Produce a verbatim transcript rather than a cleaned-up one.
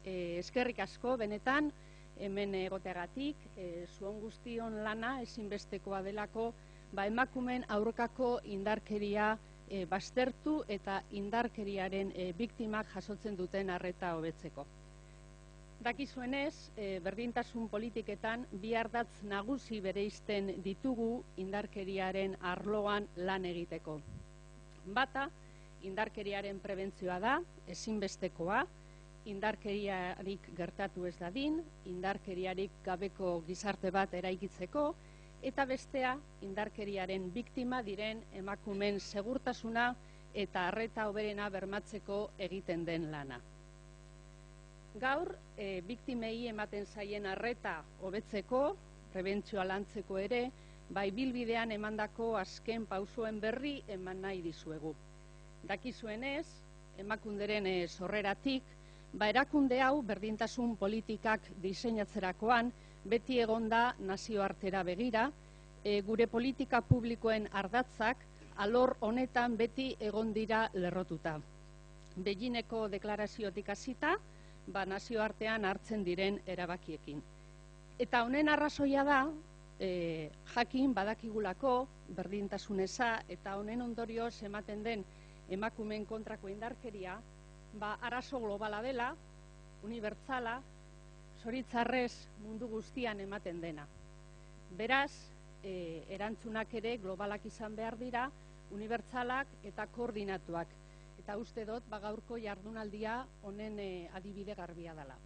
E, eskerrik asko, benetan, hemen egoteagatik, e, zuon guztion lana ezinbestekoa delako, ba, emakumeen aurkako indarkeria e, baztertu eta indarkeriaren e, biktimak jasotzen duten arreta hobetzeko. Dakizuenez, e, berdintasun politiketan bi ardatz nagusi bereizten ditugu indarkeriaren arloan lan egiteko. Bata, indarkeriaren prebentzioa da, ezinbestekoa, indarkeriarik gertatu ez dadin, indarkeriarik gabeko gizarte bat eraikitzeko, eta bestea, indarkeriaren biktima diren emakumeen segurtasuna eta arreta hoberena bermatzeko egiten den lana. Gaur, e, biktimei ematen zaien arreta hobetzeko, prebentzioa lantzeko ere, bai bilbidean emandako azken pausoen berri eman nahi dizuegu. Dakizuenez, emakunderen e, sorreratik, ba erakunde hau berdintasun politikak diseinatzerakoan beti egonda nazioartera begira, e, gure politika publikoen ardatzak alor honetan beti egon dira lerrotuta. Beijingeko deklaraziotik hasita, ba nazioartean hartzen diren erabakiekin. Eta honen arrazoia da, e, jakin badakigulako berdintasuneza eta honen ondorioz ematen den emakumeen kontrako indarkeria, ba, arazo globala dela, unibertsala, zoritzarrez mundu guztian ematen dena. Beraz, e, erantzunak ere globalak izan behar dira, unibertsalak eta koordinatuak. Eta uste dut, ba, gaurko jardunaldia honen e, adibide garbia dela.